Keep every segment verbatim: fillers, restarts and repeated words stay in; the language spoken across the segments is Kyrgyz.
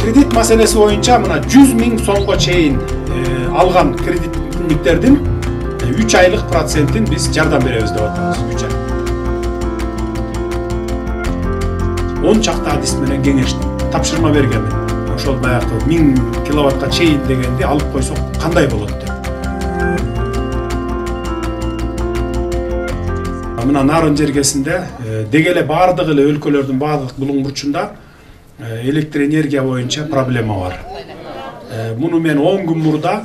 Кредит маселеси боюнча мына жүз миң сомго чейин алган кредитниктердин үч айлык процентин биз жардам беребиз деп атабыз. үч ай. он чакты адис менен кеңештим, тапшырма бергенмин. Ошол баягы миң киловаттка чейин дегенди алып койсок кандай болот деп. Мына Нарын жергесинде деги эле баардык эле өлкөлөрдүн баардык булуң бурчунда электр энергия боюнча проблема бар. Муну мен он күн мурда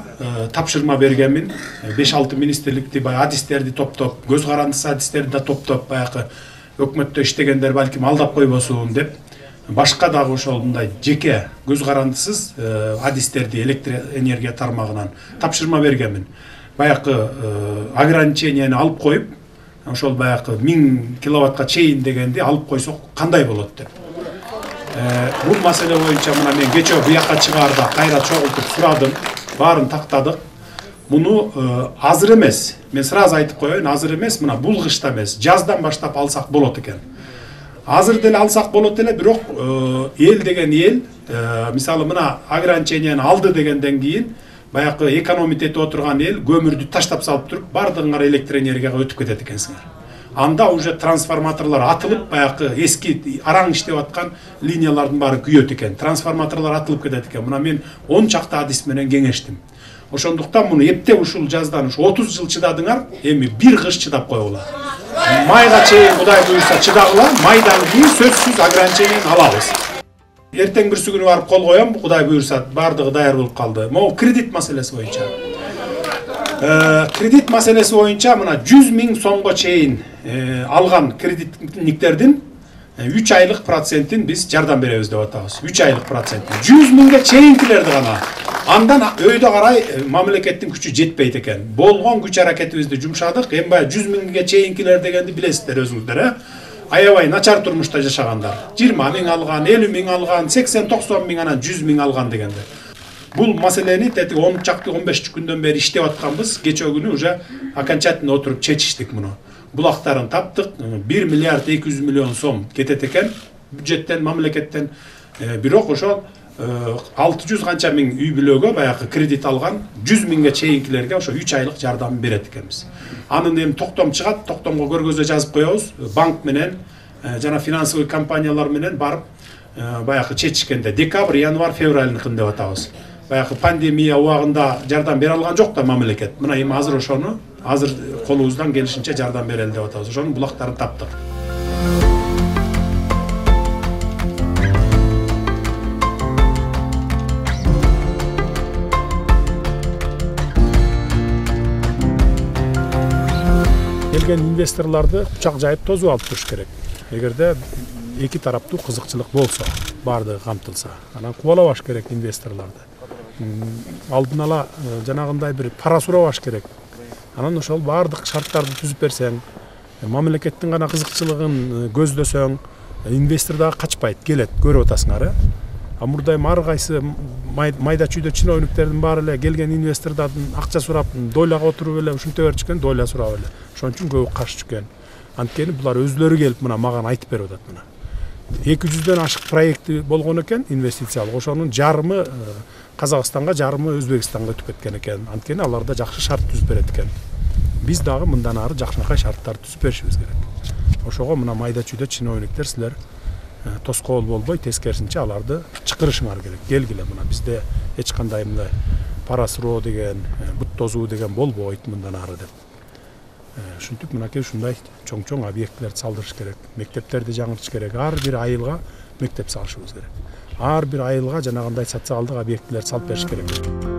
тапшырма бергенмин. беш алты министрликти баягы адистерди топтоп, көз карандысыз адистерди да топтоп, баягы өкмөттө иштегендер балким алдап койбосун деп, башка дагы ошол мындай жеке көз карандысыз адистерди электр энергия тармагынан тапшырма бергенмин. Баягы ограниченияны алып коюп, ошол баягы миң киловаттка чейин дегенди алып койсок кандай болот деп. Бул маселе боюнча мына мен кечээ буяка чыгаарда кайра чогултуп сурадым, баарын тактадык. Муну азыр эмес, мен сразу айтып коеюн, азыр эмес, мына бул кышта эмес, жаздан баштап алсак болот экен. Азыр деле алсак болот эле, бирок эл деген эл, мисалы мына ограниченияны алды дегенден кийин баягы экономить этип отурган эл көмүрдү таштап салып туруп, бардыгыңар электр энергияга өтүп кетет экенсиңер. Анда уже трансформаторлор атылып, баягы эски араң иштеп аткан линиялардын баары күйөт экен. Трансформаторлор атылып кетет экен. Мына мен он чакты адис менен кеңештим. Ошондуктан муну эптеп ушул жаздан ушу отуз жыл чыдадыңар, эми бир кыш чыдап койгула. Майга чейин Кудай буйрса чыдагыла, майдан кийин сөзсүз ограниченияны алабыз. Эртең бирсү күнү барып кол коем, Кудай буйрса бардыгы даяр болуп калды. Могу кредит маселеси боюнча. Кредит маселеси боюнча мына жүз миң сомго чейин алган кредитниктердин үч айлык процентин биз жардам беребиз деп атабыз. үч айлык процент. жүз миңге чейинкилерди гана. Андан өйдө карай мамлекеттин күчү жетпейт экен. Болгон күч аракетибизди жумшадык. Эми баягы жүз миңге чейинкилер дегенди билесиздер өзүңүздөр, э? Аябай начар турмушта жашагандар. жыйырма миң алган, элүү миң алган, сексен токсон миң анан жүз миң алган дегенде. Бул маселени тети он чакты он беш күндөн бери иштеп атканбыз. Кечээ күнү уже окончательно отуруп чечиштик муну. Булактарын таптык, бир миллиард эки жүз миллион сом кетет экен бюджеттен, мамлекеттен. Бирок ошол алты жүз канча миң үй бүлөгө баягы кредит алган жүз миңге чейинкилерге ошо үч айлык жардам берет экенбиз. Анын эми токтом чыгат, токтомго көргөзмө жазып коебуз. Банк менен жана финансовый компаниялар менен барып баягы чечишкенде декабрь, январь, февралькын деп атабыз. Баягы пандемия убагында жардам бере алган жок да мамлекет. Мына эми азыр ошону азыр колубуздан келишинче жардам берели деп атабыз. Ошонун булактарын таптык. Келген инвесторларды кучак жайып тосуп алып туруш керек. Эгерде эки тараптуу кызыкчылык болсо, бардыгы камтылса, анан кубалабаш керек инвесторларды. Алдын ала жанагындай бир пара сурабаш керек. Анан ошол бардык шарттарды түзүп берсең, мамлекеттин гана кызыкчылыгын көздөсөң, инвестор дагы качпайт, келет, көрүп атасыңар, э? А мурдай ар кайсы майда чүйдө чиновниктердин баары эле келген инвестордордун акча сурап, дойлага отуруп эле ушинте берчүкен, дойла сурап эле. Ошон үчүн көбү каршы чыккан. Анткени булар өзлөрү келип мына мага айтып берип атат мына. эки жүздөн ашык проекти болгон экен инвестициялык. Ошонун жарымы Казакстанга, жарымы Өзбекстанга өтүп кеткен экен. Анткени алар да жакшы шарт түзүп берет экен. Биз дагы мындан ары жакшынакай шарттарды түзүп беришибиз керек. Ошого мына майда чүйдө чиновниктер силер тоскоол болбой, тескерисинче аларды чакырышыңар керек. Келгиле мына бизде эч кандай мындай пара суроо деген, бут тозуу деген болбойт мындан ары деп. Ушинтип мынакей ушундай чоң-чоң объектилерди салдырыш керек. Мектептерди жаңыртыш керек. Ар бир айылга мектеп салышыбыз керек. Ар бир айылга жанагындай социалдык объектилерди салып бериш керек.